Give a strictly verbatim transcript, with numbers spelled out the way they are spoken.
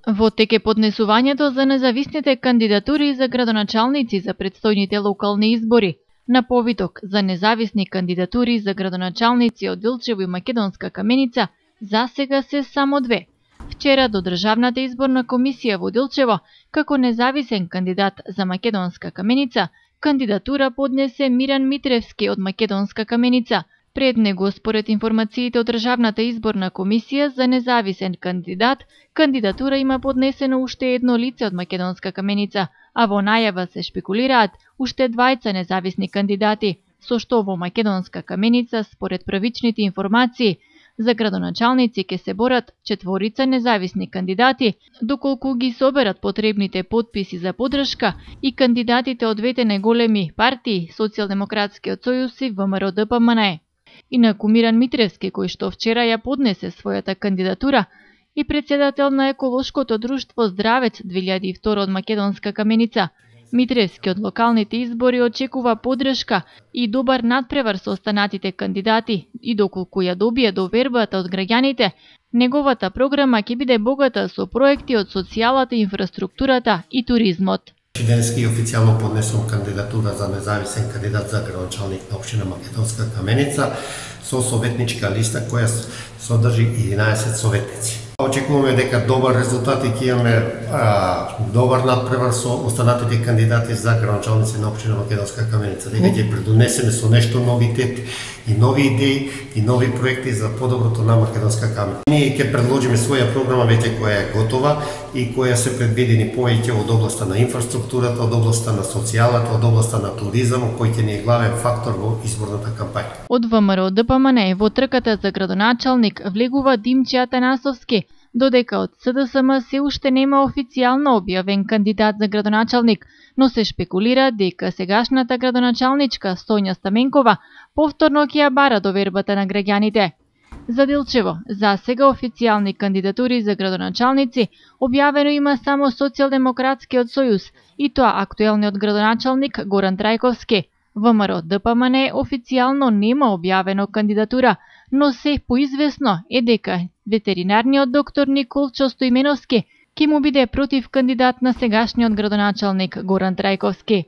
Во тек е поднесувањето за независните кандидатури за градоначалници за предстојните локални избори. На повиток за независни кандидатури за градоначалници од Дилчево и Македонска Каменица засега се само две. Вчера до Државната изборна комисија во Дилчево, како независен кандидат за Македонска Каменица, кандидатура поднесе Миран Митревски од Македонска Каменица. Пред него, според информациите од Државната изборна комисија за независен кандидат, кандидатура има поднесено уште едно лице од Македонска Каменица, а во најава се шпекулираат уште двајца независни кандидати, со што во Македонска Каменица, според првичните информации, за градоначалници ќе се борат четворица независни кандидати, доколку ги соберат потребните потписи за поддршка и кандидатите од двете најголеми партии, Социјалдемократскиот сојуз и ВМРО-ДПМНЕ. Инаку Миран Митревски, кој што вчера ја поднесе својата кандидатура, и председател на еколошкото друштво Здравец две илјади и втора од Македонска Каменица, Митревски од локалните избори очекува поддршка и добар надпревар со останатите кандидати и доколку ја добие довербата од граѓаните, неговата програма ќе биде богата со проекти од социјалата, инфраструктурата и туризмот. Денески официјално поднесувам кандидатура за независен кандидат за градоначалник на општина Македонска Каменица со советничка листа која содржи единаесет советници. Очекуваме дека добар резултат и ќе имаме а, добар надпревар со останатите кандидати за градоначалници на општина Македонска Каменица. Дека ќе предонесеме со нешто новитет и нови идеи и нови проекти за подоброто на Македонска Каменица. Ние ќе предложиме своја програма веќе која е готова и која се предвидени повеќе од областа на инфраструктурата, од областа на социјалата, од областа на туризмот, кој ќе ни е главен фактор во изборната кампања. Од ВМРО-ДПМНЕ во трката за градоначалник влегува Димче Атанасовски, додека од СДСМ се уште нема официјално објавен кандидат за градоначалник, но се шпекулира дека сегашната градоначалничка Сонја Стаменкова повторно ќе ја бара довербата на граѓаните. За Дилчево, засега официјални кандидатури за градоначалници објавено има само Социјалдемократскиот сојуз и тоа актуелниот градоначалник Горан Трајковски. ВМРО-ДПМНЕ официјално нема објавено кандидатура, но се поизвестно е дека ветеринарниот доктор Николчо Стоименовски ќе му биде против кандидат на сегашниот градоначалник Горан Трајковски.